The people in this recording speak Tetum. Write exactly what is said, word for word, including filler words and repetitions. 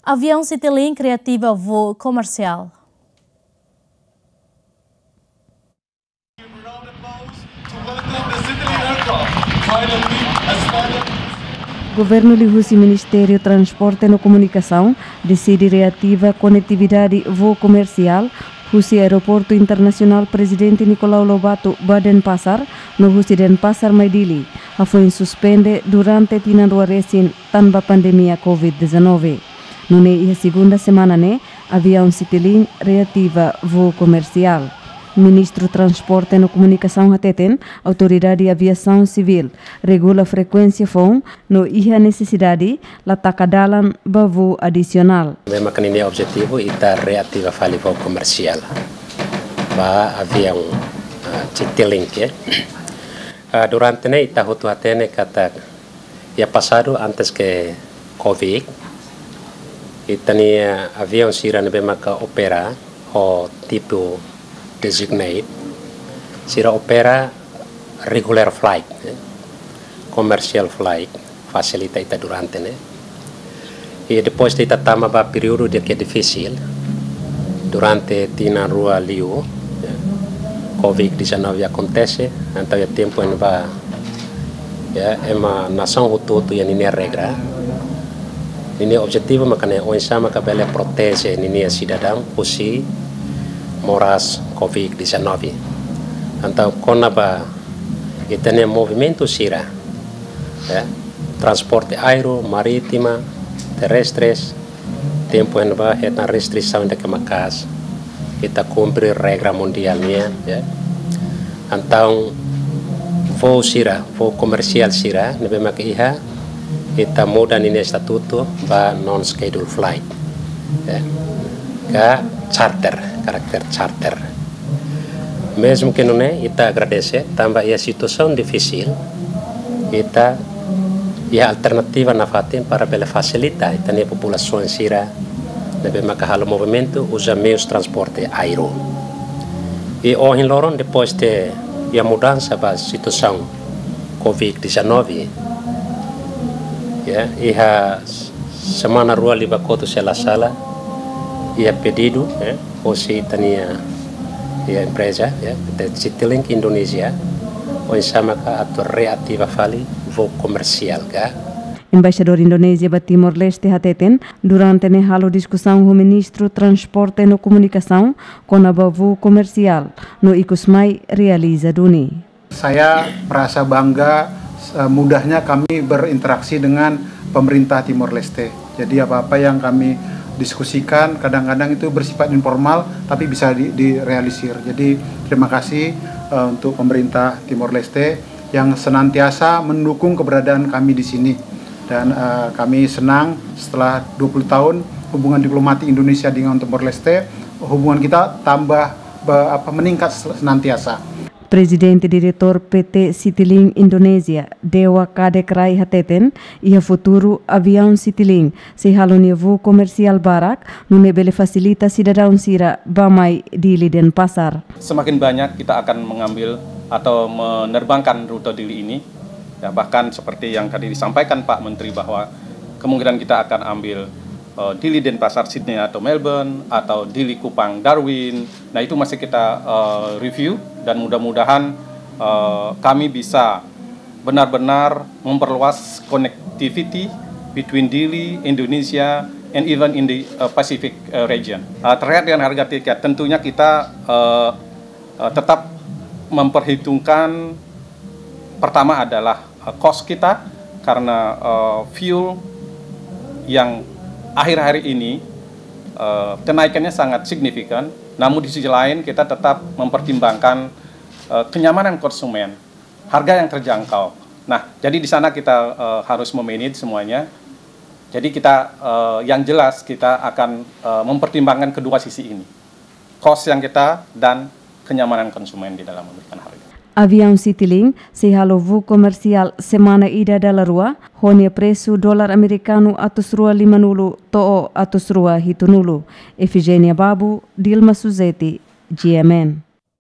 Aviaun Citilink reativa voo komersiál. Governu liuhusi Ministériu Transporte no Komunikasaun deside reativa konetividade voo komersiál husi Aeroportu Internasionál Prezidente Nicolau Lobato ba Denpasar, no husi Denpasar mai Dili, hafoin suspende durante tinan rua resin tanba pandemia covid dezanove. Nune'e iha segunda semana ne'e, aviaun Citilink reativa voo komersiál. Ministru Transporte no Komunikasaun hateten, Autoridade Aviasaun Sivíl regula frekuénsia foun no iha nesesidade la taka dalan ba voo adisionál. Ne'ebé maka ninia objetivu ita reativa fali voo komersiál ba aviaun, ah, Citilink, eh. Ah, durante ne'e ita hotu hatene katak iha pasadu antes ke covid, ita-nia aviaun sira ne'ebé maka opera ho tipu designated, sira opera regular flight, eh, commercial flight, fasilita ita durante ne'e. I depois de ita tama ba períodu ida ke difisil, durante tinan rua liu, ya, covid dezanove akontese, entaun iha tempu ne'ebá, ya, ema nasaun hotu-hotu iha ninia regra. Ninia objetivu maka ne'e oinsá maka bele proteje ninia sidadaun husi moras covid dezanove. Entaun kona-ba ita-nia movimentu sira, ya, transporte aéreu, marítima, terrestres, tempu ne'ebá hetan restrisaun ida ke maka'as, ita kumpre regra mundiál nian, ya. Entaun voo sira, voo komersiál sira ne'ebé maka iha, ita muda ninia estatutu ba non-schedule flight, ya, ka charter, karakter charter. Mezmu ke nune'e, ita agradese tanba iha situasaun difisil, ita iha alternativa nafatin para bele fasilita ita-nia populasaun sira ne'ebé maka halo movimentu uza meius transporte aéreu. I ohin loron, depois de iha mudansa ba situasaun covid dezanove, ya, iha semana rua liubá kotuk se la sala, iha pedidu, ya, hosi ita-nia, ya, empreza, ya, Citilink Indonesia, oinsá maka atu reativa fali voo komersiál ka. Embaixadór Indonézia ba Timor-Leste hateten, durante ne'e halo diskusaun ho Ministru Transporte no Komunikasaun kona-ba voo komersiál, no ikus mai realiza duni. Saya merasa bangga, eh, mudahnya kami berinteraksi dengan pemerintah Timor Leste. Jadi apa-apa yang kami diskusikan kadang-kadang itu bersifat informal tapi bisa di-, direalisir. Jadi terima kasih, eh, untuk pemerintah Timor Leste yang senantiasa mendukung keberadaan kami di sini. Dan, eh, kami senang setelah dua puluh tahun hubungan diplomatik Indonesia dengan Timor Leste, hubungan kita tambah, be-, apa, meningkat senantiasa. Prezidente Diretór P T Citilink Indonézia, Dewa Kadek Rai hateten, iha futuru aviaun Citilink sei halo nia voo komersiál barak, nune'e bele fasilita sidadaun sira bá-mai Dili Denpasar. Semakin banyak kita akan mengambil atau menerbangkan rute Dili ini. Ya, bahkan seperti yang tadi disampaikan Pak Menteri bahwa kemungkinan kita akan ambil, eh, Dili Denpasar Sydney atau Melbourne, atau Dili Kupang Darwin. Nah, itu masih kita, eh, review dan mudah-mudahan, eh, kami bisa benar-benar memperluas connectivity between Dili, Indonesia, and even in the, uh, Pacific, uh, region. Uh, terkait dengan harga tiket, tentunya kita, uh, uh, tetap memperhitungkan, pertama adalah, uh, cost kita, karena, uh, fuel yang akhir-akhir ini, uh, kenaikannya sangat signifikan. Namun di sisi lain kita tetap mempertimbangkan, uh, kenyamanan konsumen, harga yang terjangkau. Nah, jadi di sana kita, eh, harus memanage semuanya. Jadi kita, eh, yang jelas kita akan, eh, mempertimbangkan kedua sisi ini. Cost yang kita dan kenyamanan konsumen di dalam memberikan harga. Aviaun Citilink sei halo voo komersiál semana ida dala rua, ho nia presu dolar amerikanu atus rua limanulu to'o atus rua hitunulu. Efigénia Babu, Dilma Suzeti, G M N.